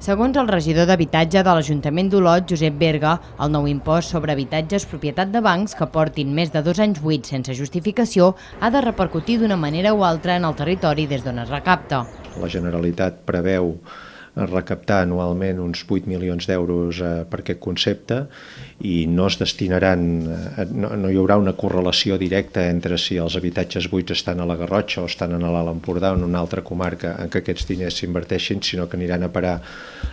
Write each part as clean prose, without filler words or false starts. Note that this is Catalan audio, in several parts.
Segons el regidor d'Habitatge de l'Ajuntament d'Olot, Josep Berga, el nou impost sobre habitatges propietat de bancs que portin més de 2 anys buits sense justificació ha de repercutir d'una manera o altra en el territori des d'on es recapta. La Generalitat preveu recaptar anualment uns 8 milions d'euros per aquest concepte i no es destinaran, no hi haurà una correlació directa entre si els habitatges buits estan a la Garrotxa o estan a l'Alt Empordà o en una altra comarca en què aquests diners s'inverteixin, sinó que aniran a parar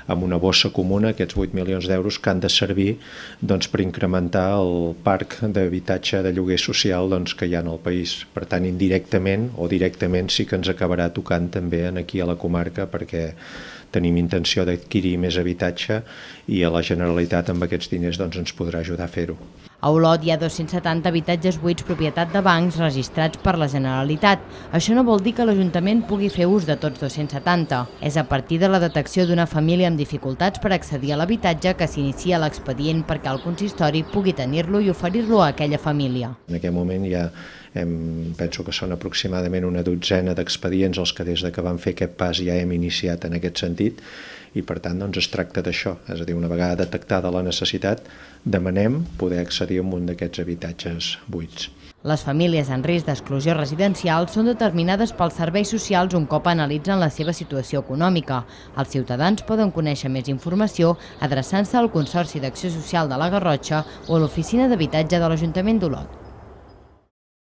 amb una bossa comuna, aquests 8 milions d'euros que han de servir per incrementar el parc d'habitatge de lloguer social que hi ha en el país. Per tant, indirectament o directament sí que ens acabarà tocant també aquí a la comarca, perquè tenim intenció d'adquirir més habitatge i a la Generalitat amb aquests diners ens podrà ajudar a fer-ho. A Olot hi ha 270 habitatges buits propietat de bancs registrats per la Generalitat. Això no vol dir que l'Ajuntament pugui fer ús de tots 270. És a partir de la detecció d'una família amb dificultats per accedir a l'habitatge que s'inicia l'expedient perquè el consistori pugui tenir-lo i oferir-lo a aquella família. En aquest moment penso que són aproximadament una dotzena d'expedients els que des que vam fer aquest pas ja hem iniciat en aquest sentit i per tant es tracta d'això, és a dir, una vegada detectada la necessitat, demanem poder accedir a un d'aquests habitatges buits. Les famílies en risc d'exclusió residencial són determinades pels serveis socials un cop analitzen la seva situació econòmica. Els ciutadans poden conèixer més informació adreçant-se al Consorci d'Acció Social de la Garrotxa o a l'Oficina d'Habitatge de l'Ajuntament d'Olot.